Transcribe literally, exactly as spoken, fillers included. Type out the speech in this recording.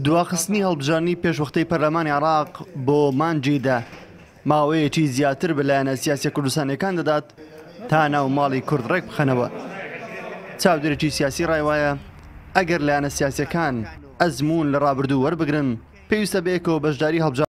دواخستنی هەڵبژاردنی پێشوەختەی پەرلەمانی عێراق بۆ مانگی دە ماوەیەکی زیاتر بە لایەنە سیاسیە کوردستانیەکان دەدات تا ناو ماڵی کورد ڕێک بخەنەوە. چاودێرێکی سیاسی ڕای وایە ئەگەر لایەنە سیاسیەکان ئەزموون لە ڕابردوو وەربگرن پێویستە بەیەکەوە بەشداری هەڵبژاردن